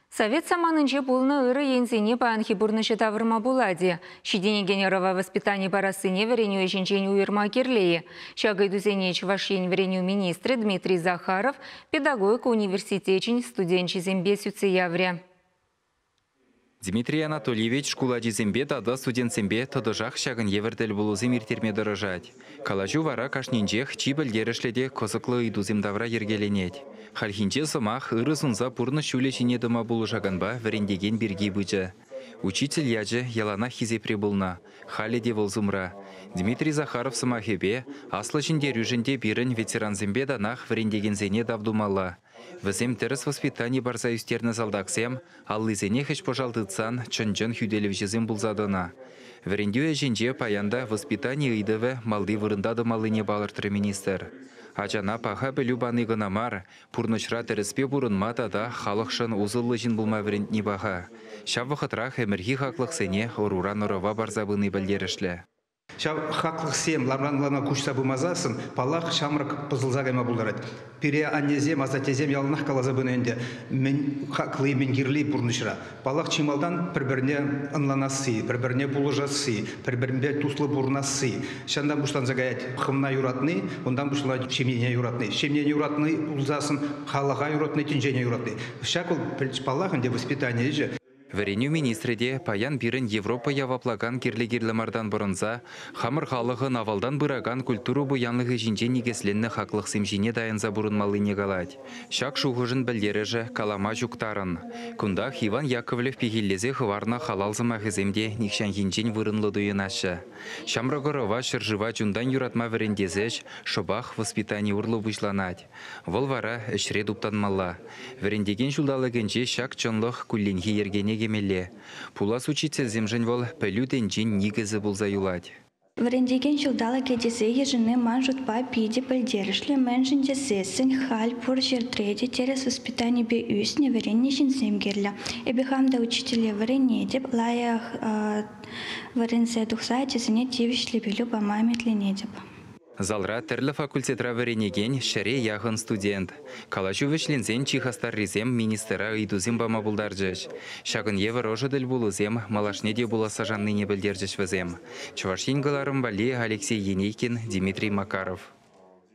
Совет саманинче пулнӑ ырӑ енсене паянхи пурнӑҫа тавӑрма пулать-и? Ҫитӗнекен ӑрӑва воспитани парассине вӗренӳ ӗҫӗнчен уйӑрма кирлӗ-и? Ҫак ыйтусене Чӑваш Ен вӗренӳ министрӗ Дмитрий Захаров педагогика университечӗн студенчӗсемпе сӳтсе яврӗ. Дмитрий Анатольевич шкул ачисемпе тата студентсемпе тӑтӑшах ҫакӑн евӗр тӗлпулусем ирттерме тӑрӑшать. Калаҫу вара кашнинчех чи пӗлтерӗшлӗ те кӑсӑклӑ ыйтусем тавра йӗркеленет. Хальхинче сӑмах ырӑ сунса пурнӑҫ ҫулӗ ҫине тӑма пулӑшаканпа вӗрентекен пирки пычӗ. Учитель ячӗ яланах хисепре пулнӑ, халӗ те вӑл сумра. Дмитрий Захаров сӑмахӗпе, Аслӑ Ҫӗнтерӳшӗн те пирӗн ветерансемпе танах вӗрентекенсене тав тумалла. Вӗсем тӗрӗс воспитани парса ӳстернӗ салтаксем аллисене хӗҫ-пӑшал тытсан чӑн-чӑн хӳтӗлевҫӗсем пулса тӑнӑ. Вӗрентӳ ӗҫӗнче паян та воспитани ыйтӑвӗ малти вырӑнта тӑмаллине палӑртрӗ министр. Ачана паха пӗлӳ пани кӑна мар, пурнӑҫра тӗрӗспе пурӑнма тата халӑхшӑн усӑллӑ ҫын пулма вӗрентни паха. Ҫав вӑхӑтрах ӗмӗрхи хаклӑхсене ӑруран ӑрӑва парса пыни пӗлтерӗшлӗ. Ҫав хаклӑхсем ламран-лама куҫса пымасассӑн, паллах, ҫамрӑк пӑсӑлса кайма пултарать. Пире аннесем, асаттесем яланах каласа пынӑ ӗнтӗ, мӗн хакли, мӗн кирли пурнӑҫра. Паллах, чи малтан пӗр-пӗрне ӑнланасси, пӗр-пӗрне пулӑшасси, пӗр-пӗринпе туслӑ пурӑнасси. Ҫантан пуҫланса каять хӑвна юратни, унтан пуҫланать ҫемьене юратни. Ҫемьене юратни пулсассӑн халӑха юратни, тӗнчене юратни. Ҫак вӑл, паллах ӗнтӗ, воспитани ӗҫӗ. Вӗренӳ министрӗ те паян пирӗн Европа яваплакан кирлӗ-кирлӗ мартан пӑрӑнса хамӑр халӑхӑн авалтан пыракан культура пуянлӑхӗ ҫинче никӗсленнӗ хаклӑхсем ҫине тайӑнса пурӑнмаллине калать. Ҫак шухӑшӑн пӗлтерӗшӗ калама ҫук тарӑн. Кунтах Иван Яковлев пехиллесе хӑварнӑ халал сӑмахӗсем те нихҫанхинчен вырӑнлӑ туйӑнаҫҫӗ. Ҫамрӑк ӑрӑва ҫӗршыва чунтан юратма вӗрентес ӗҫ шӑпах воспитани урлӑ пуҫланать. Вӑл вара ӗҫре туптанмалла. Вӗрентекен ҫулталӑкӗнче ҫак чӑнлӑх кулленхи йӗркене кӗмелле. Пулас учительсемшӗн вӑл пӗлӳ тӗнчин никӗсӗ пулса юлать. Вӗрентекен ҫулталӑкӗ тесе йышӑнни ман шутпа питӗ пӗлтерӗшлӗ, мӗншӗн тесессӗн халь пур ҫӗртре те тӗрӗс воспитанипе ӳснӗ, вӗреннӗ ҫынсем кирлӗ. Эпӗ хам та учителе вӗренетӗп, лайӑх вӗренсе тухса ачасене тивӗҫлӗ пӗлӳ пама ӗмӗтленетӗп. Залра тӗрлӗ факультетра вӗренекен ҫӗре яхӑн студент. Калаҫу вӗҫленсен чи хастаррисем министра ыйтусем пама пултарчӗҫ. Ҫакӑн евӗр ӑшӑ тӗлпулусем малашне те пуласса шаннине пӗлтерчӗҫ вӗсем. Чӑваш Ен кӑларӑм валли Алексей Енейкин, Дмитрий Макаров.